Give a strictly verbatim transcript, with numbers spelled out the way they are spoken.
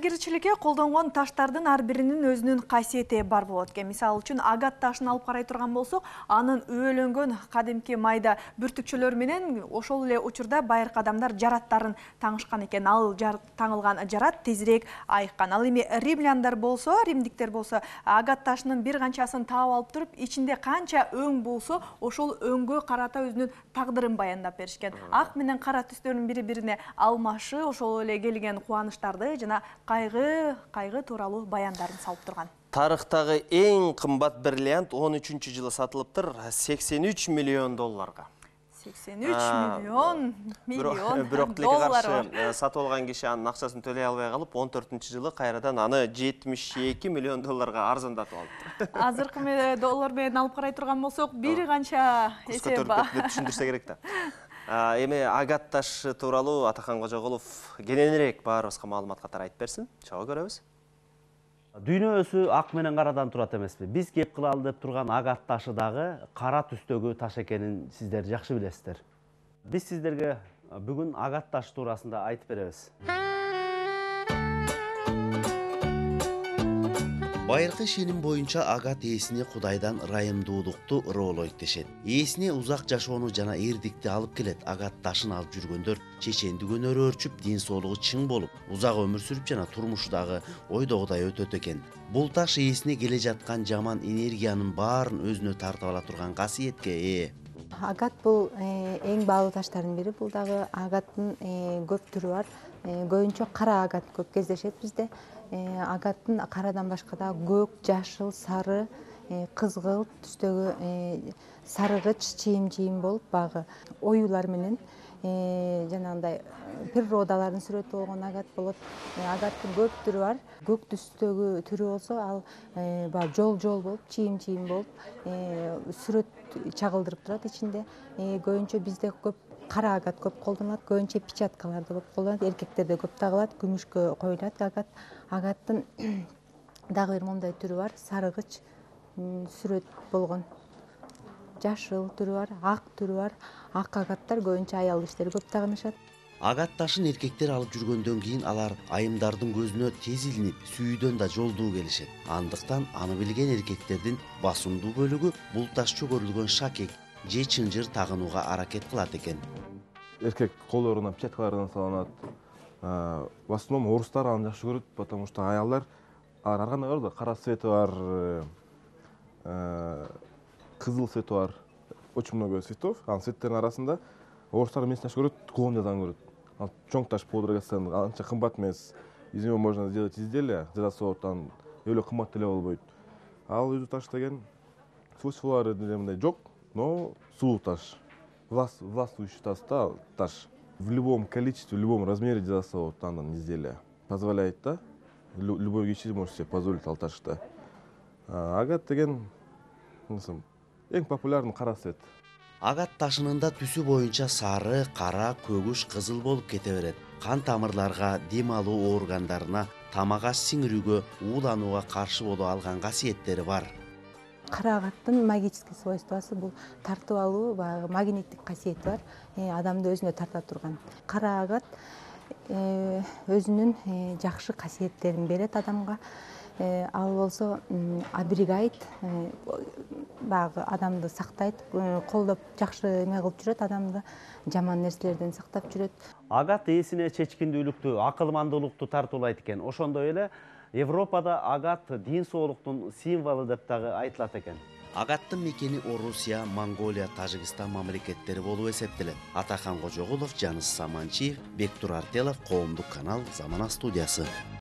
Кийимкерчиликке колдонгон таштардын ар биринин өзүнүн касиети бар болот экен. Мисалы үчүн агат ташын алып карай турган болсок, анын өөлөнгөн кадимки майда бүртүкчөлөр менен ошол эле учурда байыркы адамдар жараттарын таңышкан экен. Ал таңылган жарат тезирээк айыккан. Ал эми римляндар болсо, римдиктер болсо, агат ташынын бир канчасын таап алып туруп, ичинде канча өң болсо, ошол өңгө карата өзүнүн тагдырын баяндап беришкен. Ак менен кара түстөрдүн бири-бирине алмашы ошол эле келген кубанычтарды жана кайгы кайгы тууралуу баяндарын салып турган. Тарыхтагы эң кымбат бриллиант он үчүнчү жылы сатылыптыр сексен үч миллион долларга. сексен үч миллион миллион бирок тилекке каршы сатып алган киши анын акчасын төлөй албай калып, он төртүнчү жылы кайрадан аны жетимиш эки миллион долларга арзандатып алыптыр. Азыркы доллар менен алып карай турган болсок, бир канча эсе бар деп түшүндүрсө керек да. Эми агат ташы тууралуу Атакан Кожоголов кененирээк баарыбызга маалымат катары айтып берсин. Чогуу көрөбүз. Дүйнө өзү ак менен карадан турат эмеспи? Биз кеп кылалы деп турган агат ташы дагы кара түстөгү таш экенин сиздер жакшы билесиздер. Биз сиздерге бүгүн агат ташы туурасында айтып беребиз. Байыркы ишеним боюнча агат ээсине Кудайдан ырайымдуулукту ыроолойт дешет. Ээсине узак жашоону жана эрдикти алып келет. Агат ташын алып жүргөндөр чечендигүн өрчүп, ден соолугу чың болуп, узак өмүр сүрүп жана турмушу дагы ойдогудай өтөт экен. Бул таш ээсине келе жаткан жаман энергиянын баарын өзүнө тартып ала турган касиетке ээ. Агат бул эң баалуу таштардын бири. Бул дагы агаттын көп түрү бар. Көбүнчө кара агат көп кездешет бизде. Агаттын карадан башка да көк, жашыл, сары, кызгылт түстөгү сарыгыч, чийим-чийим болуп багы оюлар менен жанагындай природалардын сүрөтү болгон агат болот. Агаттын көп түрү бар. Көк түстөгү түрү болсо, ал баягы жол-жол болуп, чийим-чийим болуп, сүрөт чагылдырып турат ичинде. Көбүнчө бизде көп кара агат көп колдонулат, көбүнчө печаткаларда көп колдонулат, эркектерде көп тагылат, күмүшкө коюлат агат. Агаттын дагы бир мондай түрү бар, сарыгыч сүрөт болгон. Жашыл түрү бар, ак түрү бар. Ак агаттар көбүнчө аял кишилер көп тагынышат. Агат ташын эркектер алып жүргөндөн кийин алар айымдардын көзүнө тез илинип, сүйүүдөн да жолдуу келишет. Андыктан аны билген эркектердин басымдуу бөлүгү бул таш чөгөрүлгөн шакек же чынжыр тагынууга аракет кылат экен. Эркек колдоруна печаткалардан салынат. В основном орустар аны жакшы көрөт, потому что аялдар ар кандай бар да, кара цвети бар, кызыл цвети бар. Очень много цветов. Анын цветтердин арасында орустар эмнесин жакшы көрөт? Клондиядан көрөт. Ал чоң таш по драгоценный, анча кымбат эмес. Из него можно сделать изделие, золотан, эле кымбат деле болбойт. Ал өзү таш деген свойстволору мындай жок, но сулуу таш. Властвующий таш. В любом количестве, в любом размере жасаса болот андан изделие. Позволяет, да? Любой киши может себе позволить ал ташты. Агат деген эң популярный кара цвет. Агат ташынын да түсү боюнча сары, кара, көгүш, кызыл болуп кете берет. Кан тамырларга, дем алуу органдарына, тамак аш сиңирүүгө, ууланууга каршы боло алган касиеттери бар. Кара агаттын магический свойствосы бул тартып алуу, баягы магниттик касиети бар, адамды өзүнө тарта турган. Кара агат өзүнүн жакшы касиеттерин берет адамга. Ал болсо оберегает, баягы адамды сактайт, колдоп жакшы эме кылып жүрөт, адамды жаман нерселерден сактап жүрөт. Агат ээсине чечкиндүүлүктү, акылмандуулукту тартуулайт экен. Ошондой эле Европада агат дин соолуктун символу деп дагы айтылат экен. Агаттын мекени Орусия, Монголия, Тажикстан мамлекеттери болуп эсептелет. Атакан Кожоголов, Жаныс Саманчиев, Бектур Артелов, Коомдук канал, Замана студиясы.